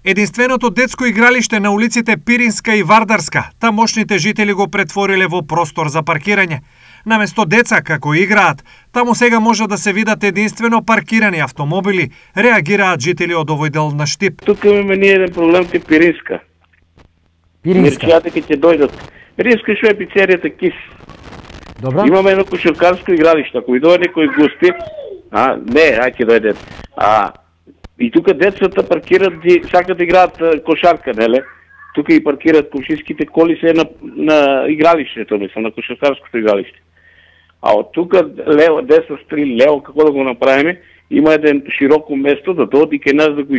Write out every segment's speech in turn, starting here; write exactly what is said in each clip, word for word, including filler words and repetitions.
Единственото детско игралиште на улиците Пиринска и Вардарска, тамошните жители го претвориле во простор за паркирање. Наместо деца како играат, таму сега може да се видат единствено паркирани автомобили, реагираат жители од овој дел на Штип. Тука имаме ние еден проблем ке Пиринска. Пиринска. Мерчијата ке ќе дојдат. Пиринска што е пицеријата Кис. Добро. Имаме едно кошаркарско игралиште. Ако и дојде некој гости, а не, ај ќе дојде. А и тука децата паркираат, сакат да играат кошарка, неле? Тука и паркираат комшиските коли се на на игралиштето, мислам, на кошаркарското игралиште. А од тука лево, десно стри, лево, како да го направиме, има еден широко место да дојдат и кај нас да го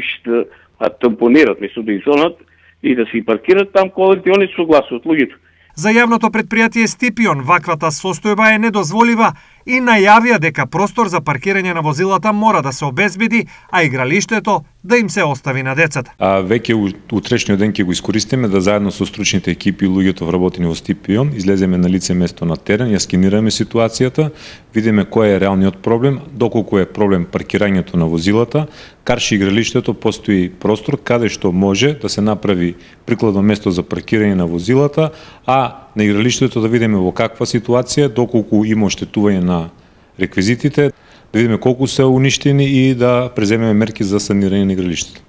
тампонират, мислам, да изонат и да се паркират там колите, они согласуват луѓето. За јавното предпријатие Стипион ваквата состојба е недозволива и најавија дека простор за паркирање на возилата мора да се обезбеди, а игралиштето да им се остави на децата. А веќе утрешниот ден ќе го искористиме да заедно со стручните екипи и луѓето вработени во Стипион излеземе на лице место на терен, ја скенираме ситуацијата, видиме кој е реалниот проблем, доколку е проблем паркирањето на возилата, карши игралиштето постои простор каде што може да се направи прикладно место за паркирање на возилата, а на игралиштето да видиме во каква ситуација, доколку има оштетување на реквизитите, да видиме колку се уништени и да преземеме мерки за санирање на игралиштето.